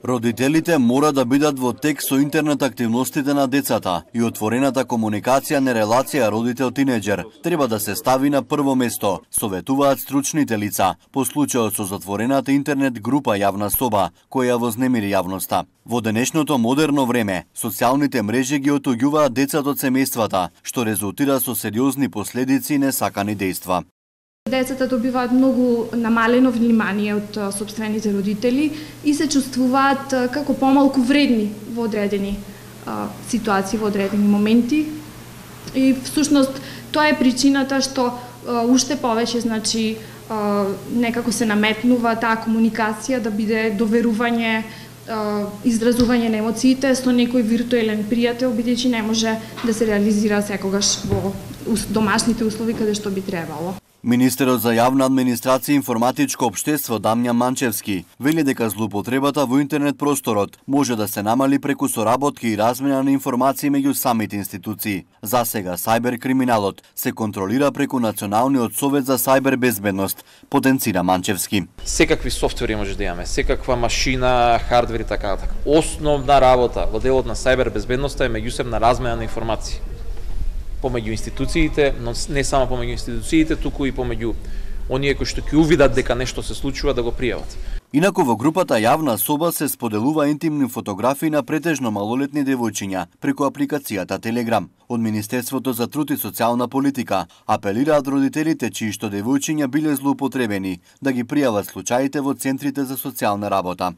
Родителите мора да бидат во тек со интернет активностите на децата и отворената комуникација на релација родител-тинеџер треба да се стави на прво место, советуваат стручните лица по случајот со затворената интернет група Јавна соба, која вознемири јавноста. Во денешното модерно време, социјалните мрежи ги отуѓуваат децата од семејствата, што резултира со сериозни последици и несакани дејства. Децата добиваат многу намалено внимание од сопствените родители и се чувствуваат како помалку вредни во одредени ситуации, во одредени моменти. И всушност тоа е причината што уште повеќе некако се наметнува таа комуникација да биде доверување, изразување на емоциите со некој виртуелен пријател, бидејќи не може да се реализира секогаш во домашните услови каде што би требало. Министерот за јавна администрација и информатичко општество Дамјан Манчевски вели дека злоупотребата во интернет просторот може да се намали преку соработки и размена на информации меѓу самите институции. За сега сајбер криминалот се контролира преку Националниот совет за сајбер безбедност, потенцира Манчевски. Секакви софтвери може да имаме, секаква машина, хардвер и така натаму. Основна работа во делот на сајбер безбедноста е меѓусебна размена на информации помеѓу институциите, но не само помеѓу институциите, туку и помеѓу оние кои што ќе увидат дека нешто се случува да го пријават. Инаку во групата Јавна соба се споделува интимни фотографии на претежно малолетни девојчиња преку апликацијата Телеграм. Од Министерството за труд и социјална политика апелираат родителите чии што девојчиња биле злоупотребени да ги пријават случаите во центрите за социјална работа.